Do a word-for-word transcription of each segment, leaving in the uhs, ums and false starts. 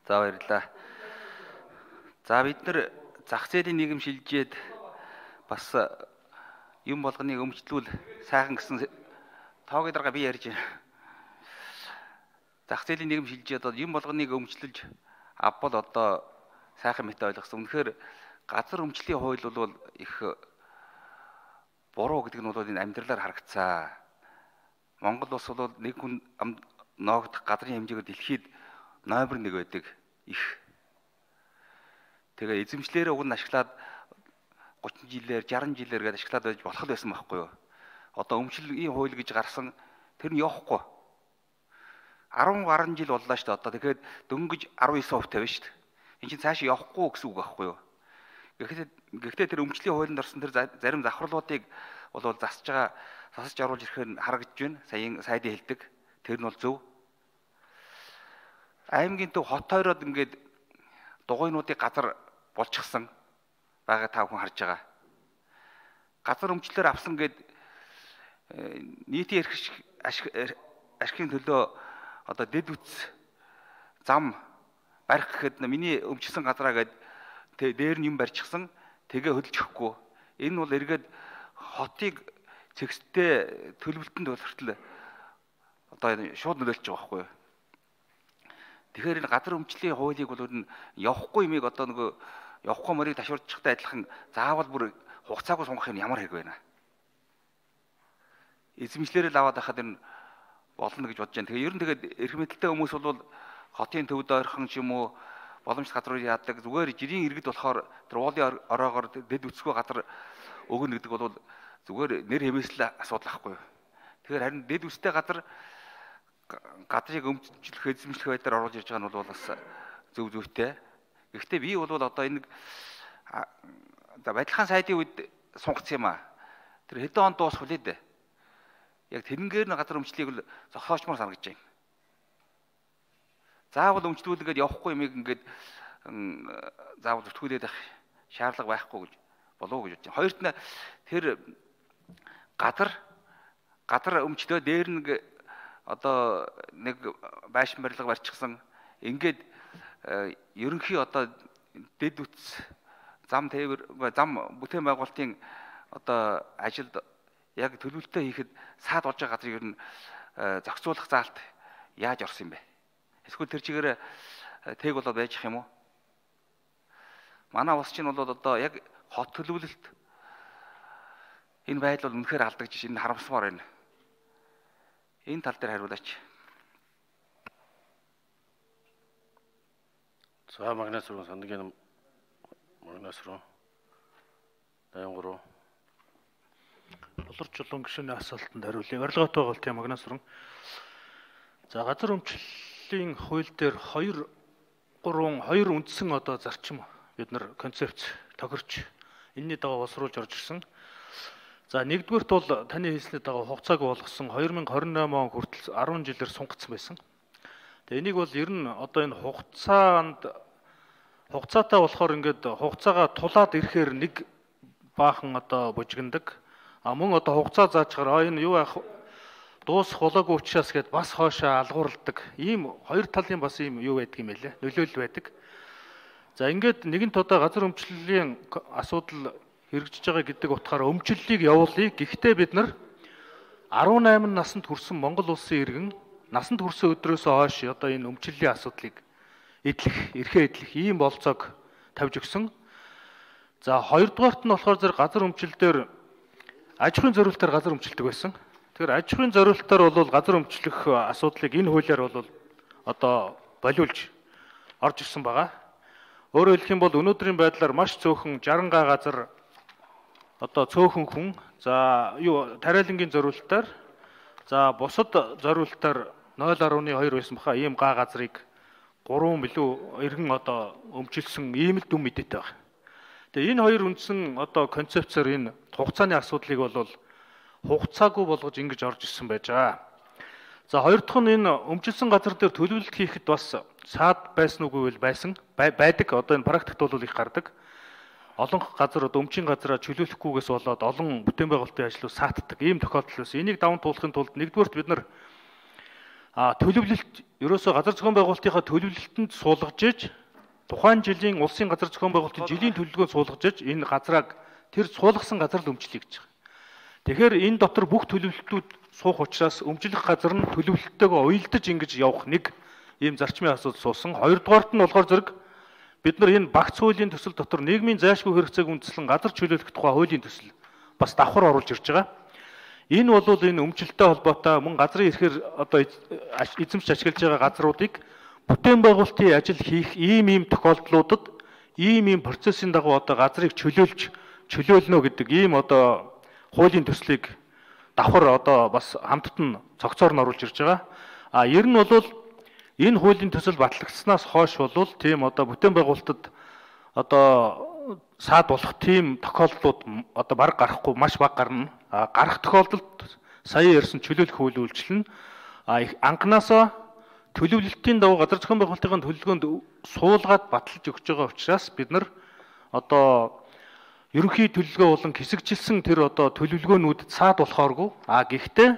За баярлалаа. За бид нар зах зээлийн нийгэм шилжээд бас юм болгоныг өмчлүүл сайхан гэсэн тоог дарга би ярьж байна. Зах зээлийн нийгэм шилжээд юм болгоныг өмчлөж авбал одоо сайхан мэт ойлгосон. Үнэхээр газар өмчлийн хууль бол их буруу гэдэг нь бол энэ амьдралаар харагдсан. Монгол улс бол нэг хүн ноогдох газрын хэмжээгээр дэлхийд номер нэг байдаг их. Тэгээ эзэмшлэрээ уг нь ашиглаад гучин жилээр жаран жилээр гээд ашиглаад байж болох байсан байхгүй юу? Одоо өмчлөгийн хууль гэж гарсан тэр нь явахгүй. арван гаруй жил боллоо шүү дээ. Одоо тэгэхээр дөнгөж арван девять хувь тавина шүү дээ. Энд чинь цаашаа явахгүй гэсэн үг байхгүй юу? Гэхдээ гэхдээ тэр өмчлийн хуулинд орсон тэр зарим завхарлуудыг бол засж байгаа засаж оруулж ирэхээр харагдж байна. Саяын сайдын хэлдэг. Тэр нь бол зөв. Аймгийн төв хот тойроод ингээд дугуйнуудыг газар болчихсон байгаа та бүхэн харж байгаа. Газар өмчлөөр авсан гэд нийтийн ашигын төлөө одоо дэд үтс зам барих гэхэд миний өмчсөн газраа гээд дээр нь юм барьчихсан тэгээ хөдөлж өгөхгүй. Энэ бол эргээд хотыг цэгцтэй төлөвлөлтөнд хүртэл одоо шууд нөлөөлж байгаа байхгүй юу? Тэгэхээр энэ газар өмчлийн хуулийг бол энэ явахгүй юмыг одоо нөгөө явахгүй мөрийг ташуурдчихтай адилхан заавал бүр хугацаагүй сунгах юм ямар хэрэг байна. Эзэмшлэрээ л аваад байхад энэ болно гэж бодож байна. Тэгээ ер нь тэгээд эрх мэдэлтэй хүмүүс бол хотын төвд ойрхон ч юм уу боломжтой газрууд яадаг зүгээр жирийн иргэд болохоор тэр уулын ороогоор дэд үсгүй газар өгнө гэдэг бол зүгээр нэр хэмээслэл асуудал ахгүй юу. Тэгэхээр харин дэд үстэй газар газрыг өмчлөх эзэмшлэх байдлаар оруулж ирж байгаа нь бол бас зөв зөвтэй. Гэхдээ би бол одоо энэ Бадилхан сайдын үед сунгацсан юм аа. Тэр хэдэн онд дуусах вэ дээ? Яг тэрнгээр нь газар өмчлийг л зогсоочмоор санагдаж байна. Заавал өмчлүүлгээд явахгүй юм ингээд заавал зүтгүүлээд байх шаардлага байхгүй гэж болов уу гэж бодож байна. Хоёрт нь тэр газар газар өмчлөө дээр нэг одоо нэг байшин барилга барьчихсан. Ингээд ерөнхий одоо дэд үтс зам тээвэр зам бүтээн байгуулалтын одоо ажилд яг төлөвлөлтөө хийхэд саад болж байгаа газрыг ер нь зохицуулах заалт яаж орсон юм бэ? Эсвэл тэр чигээр тэг болоод байж их юм уу? Манай улс чинь бол одоо яг хот төлөвлөлт энэ байдал бол үнэхээр алдагдаж энэ харамсмаар байна. Энэ тал дээр хариулаач. За магнас руу сангийн магнас руу дайгур руу Болор чулуун гишүүний асуултанд хариулъя. Орилгоотой байгуулт юм магнас руу. За газар өмчлөлийн хууль дээр хоёр гурван хоёр үндсэн одоо зарчим бид нар концепц тохирч энэний дагуу боловсруулж орж ирсэн. За нэгдүгürt бол таны хэлсний дагуу хугацааг болгосон две тысячи двадцать восемь он хүртэл ten жилээр сунгацсан байсан. Тэгээ энийг бол ер нь одоо энэ хугацаанд хугацаатай болохоор ингээд хугацаагаа тулаад ирэхээр нэг баахан одоо бужигнадаг. А мөн одоо хугацаа заачаар энэ юу яах дуусах болоогүй учраас гээд бас хоошоо алгуурладаг. Ийм хоёр талын бас ийм юу байдаг юм байлээ. Нөлөөлөл байдаг. За ингээд нэгэн тодоо газар өмчлөлийн асуудал хэрэгжиж байгаа гэдэг утгаараа өмчлөлийг явуулъя. Гэхдээ бид нар eighteen наснд хүрсэн Монгол улсын иргэн насанд хүрсэн өдрөөс хойш одоо энэ өмчлөлийн асуудлыг эдлэх, эрхээ эдлэх ийм болцоог тавьж өгсөн. За хоёрдугаарт нь болохоор зэрэг газар өмчлөлтөөр аж ахуйн зориулалтаар газар өмчлөдөг байсан. Тэгэхээр аж ахуйн зориулалтаар бол газар өмчлөх асуудлыг энэ хуулиар бол одоо болиулж орж ирсэн байгаа. Өөрөөр хэлэх юм бол өнөөдрийн байдлаар маш цөөхөн sixty га газар одоо цөөхөн хүн за юу тариалангийн зориулалтаар за бусад зориулалтаар zero point two байсан баха ийм га газрыг three билүү иргэн одоо өмчилсөн ийм л дүн мэдээтэй байна. Тэгээ энэ хоёр үндсэн одоо концепцээр энэ хугацааны асуудлыг бол хугацаагүй болгож ингэж орж ирсэн байж байгаа. За хоёр дахь нь энэ өмчилсөн газар дээр төлөвлөлт хийхэд бас саад байсан үгүй байсан байдаг. Одоо энэ практикт бол их гардаг. Олон газар одоо өмчийн газараа чөлөөлөхгүйгээс болоод олон бүтээн байгуулалтын ажлууд саатдаг ийм тохиолдол байсан. Энийг даван туулахын тулд нэгдүгээрт бид нар А төлөвлөлт ерөөсөө газар зохион байгуулалтынхаа төлөвлөлтөнд суулгаж иж тухайн жилийн улсын газар зохион байгуулалтын жилийн төлөвлөгөөнд суулгаж иж энэ газрыг тэр суулгасан газар л өмчлөе гэж байгаа. Тэгэхээр энэ дотор бүх төлөвлөлтүүд суух учраас өмчлөх газар нь төлөвлөлтөөгөө уялдаж ингэж явах нэг ийм зарчмын асуудал суусан. Хоёрдугаарт нь болохоор зэрэг бид нар энэ багц хуулийн төсөл дотор нийгмийн зайлшгүй хэрэгцээг үндэслэн газар чөлөөлөх тухай хуулийн төсөл бас давхар оруулж ирж байгаа. Энэ бол энэ өмчлөлттэй холбоотой мөн газрын эрхээр одоо эзэмшиж ашиглаж байгаа газруудыг бүтээн байгуулалтын ажил хийх ийм ийм тохиолдлуудад ийм ийм процессын дагуу одоо газрыг чөлөөлж чөлөөлнө гэдэг ийм одоо хуулийн төслийг давхар одоо бас хамтд нь цогцоор нь оруулж ирж байгаа. А ер нь бол энэ хуулийн төсөл батлагдсанаас хойш бол тийм одоо бүтээн байгуулалтад одоо саад болох тийм тохиолдлууд одоо баг гарахгүй маш бага гарна. А гарах тохиолдолд сая ярьсан чөлөөлөх үйл үйлчлэл нь анханасаа төлөвлөлтийн дагуу газар зохион байгуулалтын төлөвлөгөөнд суулгаад баталж өгч байгаа учраас бид нар одоо ерөнхий төлөвлөгөө болон хэсэгжилсэн тэр одоо төлөвлөгөөнүүдэд саад болохооргүй. А гэхдээ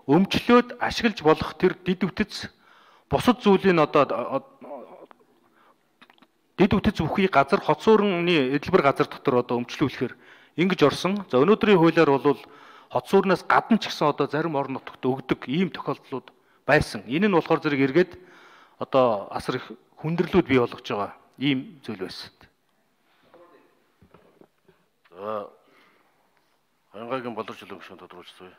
өмчлөөд ашиглаж болох тэр дид үтц бусад зүйлийн одоо дид үтц бүхий газар хотсуурны эдлбэр газар дотор одоо өмчлүүлэхээр ингэж орсон. За өнөөдрийн хуулиар бол хотсуурнаас гадна ч гэсэн одоо зарим орон нутагт өгдөг ийм тохиолдлууд байсан. Энэ нь болохоор зэрэг эргээд одоо асар их хүндрэлүүд бий болгож байгаа ийм зүйл байсан. За Хангайгийн боловсролын гишүүн тодорхойлцгаая.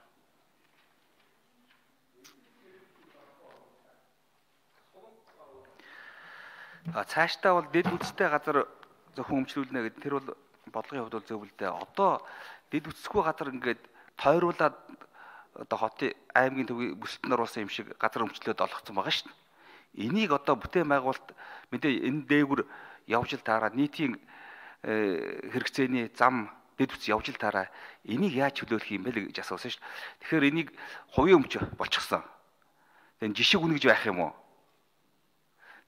А цаашдаа бол дэд үтцтэй газар зөвхөн өмчлүүлнэ гэдэг тэр бол бодлогын хувьд бол зөв л дээ. Одоо дэд үтцгүй газар ингээд тойруулаад одоо хотын аймгийн төвийн бүсэлтэн оруулсан юм шиг газар өмчлөөд олгоцсон байгаа шүү дээ. Энийг одоо бүтээн байгуулалт мэдээ энэ дээгүр явж л таараа нийтийн хэрэгцээний зам дэд үтц явж л таараа энийг яаж чөлөөлөх юм бэ гэж асуусан шүү дээ. Тэгэхээр энийг хувийн өмч болчихсон. Тэгээ жишг үнэ гэж байх юм уу?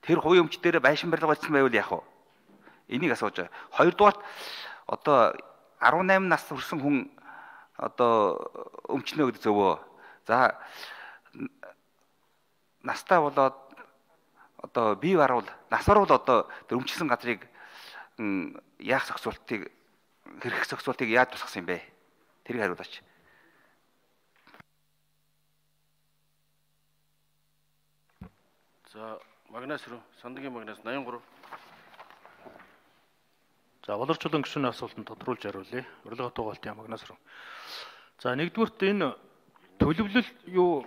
Тэр хувийн өмч дээр байшин барилга болсон байвал яах вэ? Энийг асууж байгаа. Хоёрдугаарт одоо арван найман нас хүрсэн хүн одоо өмчнө гэдэг зөвөө. За настаа болоод одоо бие баруул нас баруул одоо тэр өмчлсөн газрыг яах зохицуултыг хэрэг зохицуултыг яаж тусгасан юм бэ? Тэрийг хариулаач. За Магнас руу Сандагийн Магнас восемьдесят три. За боловсролын гишүүний асуултанд тодруулж хариулъя. Урилга тугаалтын Магнас руу. За нэгдүгürt энэ төлөвлөл юу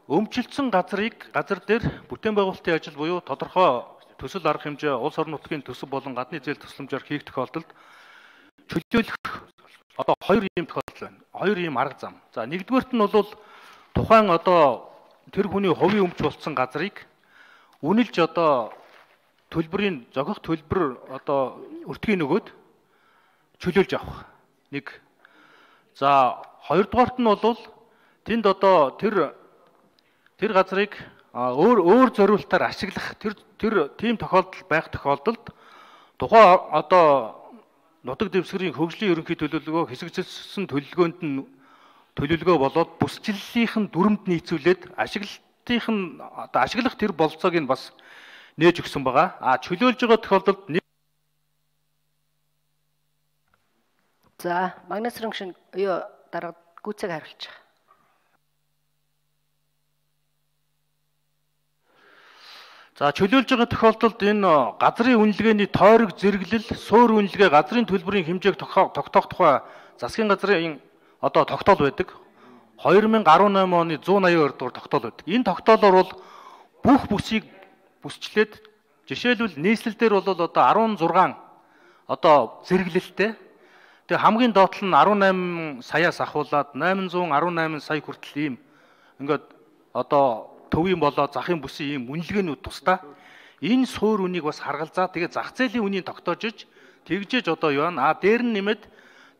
өмчлөлтсөн газрыг газар дээр бүтээн байгуулалтын ажил буюу тодорхой төсөл арга хэмжээ улс орон нутгийн төсөв болон гадны зээл тусламжаар хийх тохиолдолд чөлөөлөх одоо хоёр ийм тохиолдол байна. Хоёр ийм арга зам. За нэгдүгürt нь бол тухайн одоо тэр хүний хувийн өмч болсон газрыг үнэлж одоо төлбөрийн зохих төлбөр одоо өртгийн нөгөөд чөлөөлж авах. Нэг. За хоёрдугаарт нь бол тэнд одоо тэр тэр газрыг өөр өөр зориулалтаар ашиглах тэр тэр тийм тохиолдол байх тохиолдолд тухайн одоо нутаг дэвсгэрийн хөгжлийн ерөнхий төлөвлөгөө хэсэгжилсэн төлөвлөгөөнд нь төлөвлөгөө болоод бүсчлэлийнхэн дүрмд нийцүүлээд ашиглалтынх нь одоо ашиглах тэр болцоог нь бас нээж өгсөн байгаа. А чөлөөлж байгаа тохиолдолд за Магнас рангшин юу дарга гүцэг хариулж байгаа. За чөлөөлж байгаа тохиолдолд энэ газрын үнэлгээний тойрог зэрэглэл, суур үнэлгээ, газрын төлбөрийн хэмжээг тогтоох тухай засгийн газрын одоо тогтоол байдаг. две тысячи десять оны one eighty дугаар тогтоол байдаг. Энэ тогтоолоор бол бүх бүсийг бүсчлээд жишээлбэл нийслэл дээр бол одоо sixteen одоо зэрэглэлтэй. Тэгээ хамгийн доотлол нь eighty-eight саяас ахуулаад eight hundred eighteen сая хүртэл ийм ингээд одоо төвийн болоо захын бүсийн ийм үнэлгээнүүд тусдаа энэ суур үнийг бас харгалзаа тэгээ зах зээлийн үнийг тогтоож иж тэгжээж одоо юу аа дээр нь нэмээд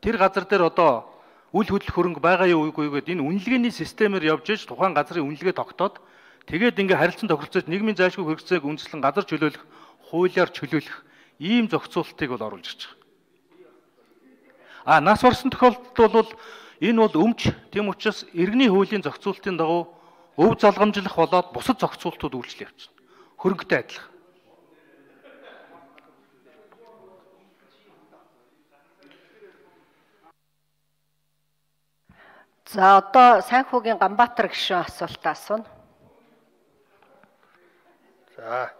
тэр газар дээр одоо үл хөдлөх хөрөнгө байгаа юу үгүй гэдэг энэ үнэлгээний системээр явж иж тухайн газрын үнэлгээ тогтоод тэгээд ингээ харилцан тохиролцож нийгмийн зайлшгүй хэрэгцээг үндэслэн газар чөлөөлөх, хуулиар чөлөөлөх ийм зохицуултыг бол оруулж ирж байгаа. А нас барсан тохиолдолд бол энэ бол өмч тийм учраас иргэний хуулийн зохицуултын дагуу өв залгамжлах болоод бусад зохицуултууд үйлчлэл явуулна. Хөрөнгөтэй адилхан. За одоо Сайнхүүгийн Ганбаатар гишүүн асуултаа асууна. За